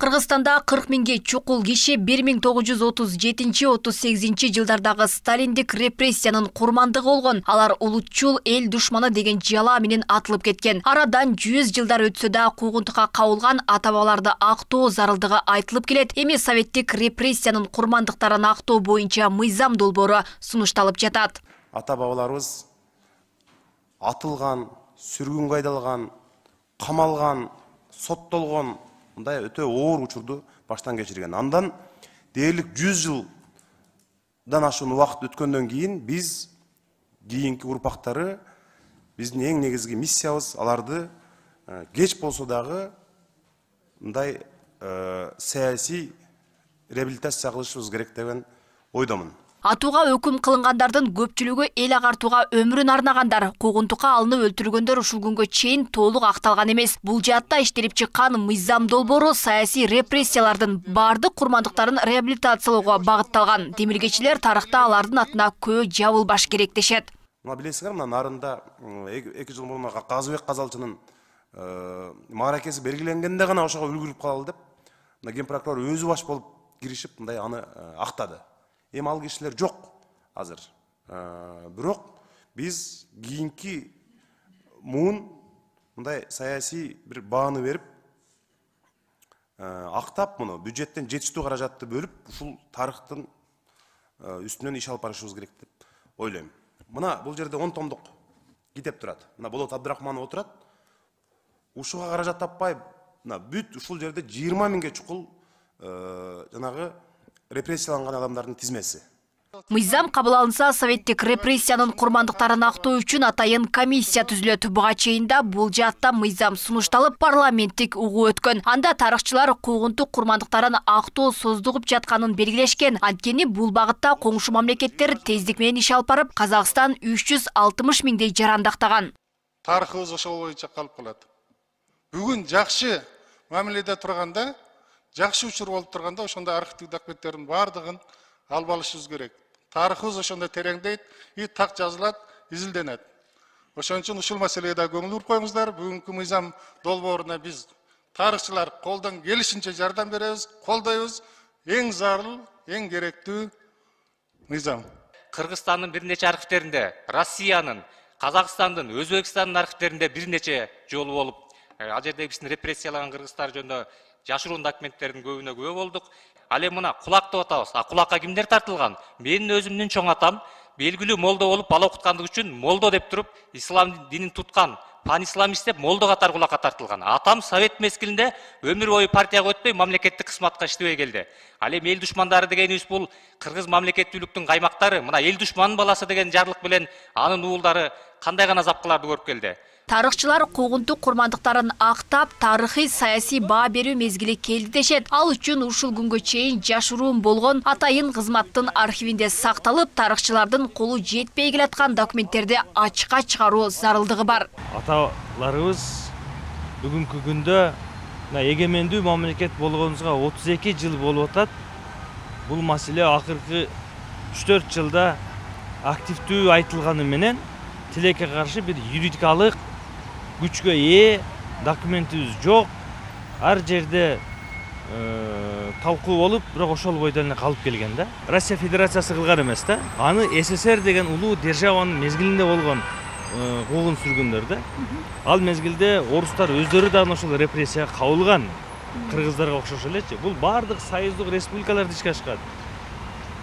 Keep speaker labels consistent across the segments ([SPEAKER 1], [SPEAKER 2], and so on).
[SPEAKER 1] Кыргызстанда 40 миңге чукул киши 1937-38 жылдардагы сталиндик репрессиянын курмандыгы болгон. Алар улутчул эл душманы деген жала менен атылып кеткен. Арадан 100 жылдар өтсө да куугунтукка кабылган ата-бабаларды актоо зарылдыгы айтылып келет. Эми советтик репрессиянын курмандыктарын актоо боюнча мыйзам долбоору сунушталып жатат.
[SPEAKER 2] Ата-бабаларыбыз атылган, сүргүнгө айдалган, камалган, соттолгон мындай өтө оор учурду баштан кечирген. Андан дээрлик 100 жылдан ашуун убакыт өткөндөн кийин биз кийинки урпактары биздин эң негизги миссиябыз аларды кеч болсо дагы мындай саясий реабилитация кылышыбыз керек деген ойдомун.
[SPEAKER 1] Атууга өкүм кылынгандардын көпчүлүгү эл агартууга өмүрүн арнагандар, куугунтукка алынып өлтүрүлгөндөр ушул күнгө чейин толук акталган эмес. Бул жаатта иштелип чыккан мыйзам долбоору саясий репрессиялардын бардык курмандыктарын реабилитациялоого багытталган. Демилгечилер тарыхта алардын атына көө жабылбаш керек дешет.
[SPEAKER 2] Мына билесиңер, мына нарында 2 жыл мурун Казыбек Казалчынын мааракеси белгиленгенде гана ошого үлгүрүп калалы деп, мына ген прокурор өзү баш болуп киришип мындай аны актады. Эми ал кишилер жок азыр. Бирок биз кийинки муун мындай саясий бир бааны берип, актап муну бюджеттен жетиштүү каражатты бөлүп, ушул тарыхтын үстүнөн иш алып барышыбыз керек деп ойлойм. Мына бул жерде 10 томдук китеп турат. Мына Болот Абдрахманов отурат. Ушуга каражат таппай, мына бүт ушул жерде 20 миңге чукул жанагы репрессияланган адамдардын тизмеси.
[SPEAKER 1] Мыйзам кабыл алынса, советтик репрессиянын курмандыктарын актоо үчүн атайын комиссия түзүлөт. Буга чейин да бул жаатта мыйзам сунушталып, парламенттик угуу өткөн. Анда тарыхчылар куугунтук курмандыктарын актоо создугуп жатканын белгилешкен. Анткени бул багытта коңшу мамлекеттер тездик менен иш алып барып, Казакстан 360 миңдей жарандактаган.
[SPEAKER 3] Тарыхыбыз ошол боюнча калып калат. Бүгүн жакшы мамиледе турганда, жакшы учур болуп турганда, ошондой архивдик документтердин бардыгын алып алышыбыз керек. Тарыхыбыз ошондой тереңдейт, так жазылат, изилденет. Ошон үчүн ушул маселеге да көңүл буруп коюңуздар. Бүгүнкү мыйзам долбооруна биз тарыхчылар колдон келишинче жардам беребиз, колдойбуз. Эң зарыл, эң керектүү мыйзам.
[SPEAKER 4] Кыргызстандын бир нече архивтеринде, Россиянын, Казакстандын, Өзбекстандын архивтеринде бир нече жолу болуп, ал жерде биздин репрессиялаган кыргыздар жөнүндө жашыруун документтердин көбүнө күбө болдук. Ал эми мына кулак деп атабыз. Кулакка кимдер тартылган? Менин өзүмдүн чоң атам белгилүү молдо болуп, бала окуткандыгы үчүн молдо деп туруп, ислам динин туткан, пан-исламист деп молдо катары кулакка тартылган. Атам совет мезгилинде өмүр бою партияга өтпөй, мамлекеттик кызматка иштебей келди. Ал эми эл душмандары дегенибиз бул кыргыз мамлекеттүүлүктүн каймактары, мына эл душманын баласы деген жарлык менен анын уулдары кандай гана запкыларды көрүп келди.
[SPEAKER 1] Тарыхчылар куугунтук курмандыктарын актап, тарыхый саясий баа берүү мезгили келди дешет. Ал үчүн ушул күнгө чейин жашыруун болгон атайын кызматтын архивинде сакталып, тарыхчылардын колу жетпей келаткан документтерди ачыкка чыгаруу зарылдыгы бар.
[SPEAKER 5] Аталарыбыз бүгүнкү күндө эгемендүү мамлекет болгонубузга 32 жыл болуп атат. Бул маселе акыркы 3-4 жылда активдүү айтылганы менен тилекке каршы бир юридикалык күчкө ээ документибиз жок. Ар жерде талкуу болуп, бирок ошол бойдон эле калып келген да. Россия Федерациясы кылган эмес да. Аны СССР деген улуу державанын мезгилинде болгон куугун сүргүндөр да. Ал мезгилде орустар өздөрү дагы ошол репрессияга кабылган, кыргыздарга окшош элечи. Бул бардык союздук республикаларда ишке ашкан.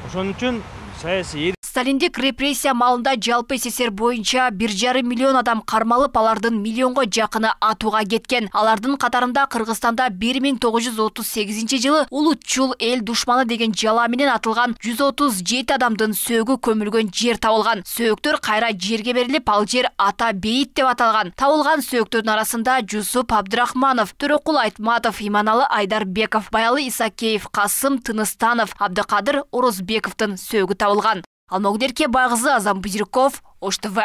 [SPEAKER 5] Ошон үчүн саясий
[SPEAKER 1] Сталиндик репрессия маалында жалпы СССР боюнча 1,5 миллион адам кармалып, алардын миллионго жакыны атууга кеткен. Алардын катарында Кыргызстанда 1938 жылы улутчул эл душманы деген жала менен атылган 137 адамдын сөөгү көмүлгөн жер табылган. Сөөктөр кайра жерге берилип, ал жер ата бейит деп аталган. Табылган сөөктөрдүн арасында Жусуп Абдрахманов, Төрөкул Айтматов, Иманалы Айдарбеков, Баялы Исакеев, Касым Тыныстанов, Абдыкадыр Орозбековдун сөөгү табылган. Алмагүл Байгызы, Азам Бузирков, Ош ТВ.